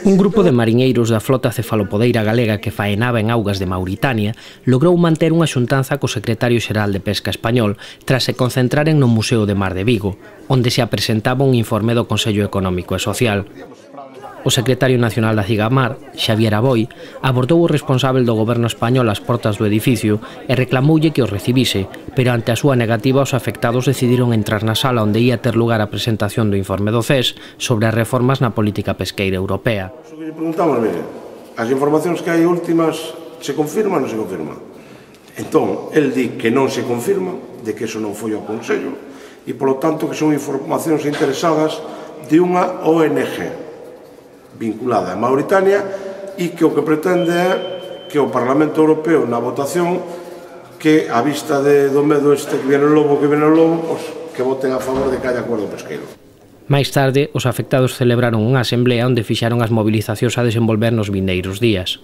Un grupo de mariñeiros da flota cefalopodeira galega que faenaba en augas de Mauritania logrou manter unha xuntanza co secretario xeral de Pesca español tras se concentraren no Museo de Mar de Vigo, onde se apresentaba un informe do Consello Económico e Social. O secretario nacional da Cigamar, Xavier Aboi, abordou o responsável do goberno español ás portas do edificio e reclamoulle que os recibise, pero ante a súa negativa os afectados decidiron entrar na sala onde ia ter lugar a presentación do informe do CES sobre as reformas na política pesqueira europea. Preguntamos, mire, as informacións que hai últimas se confirman ou non se confirman? Entón, el di que non se confirma, de que eso non foi ao Consello, e polo tanto que son informacións interesadas de unha ONG vinculada a Mauritania e que o que pretende é que o Parlamento Europeo na votación que a vista do medo este que viene o lobo, pois, que voten a favor de que haya acordo pesqueiro. Máis tarde, os afectados celebraron unha asemblea onde fixaron as mobilizacións a desenvolver nos vindeiros días.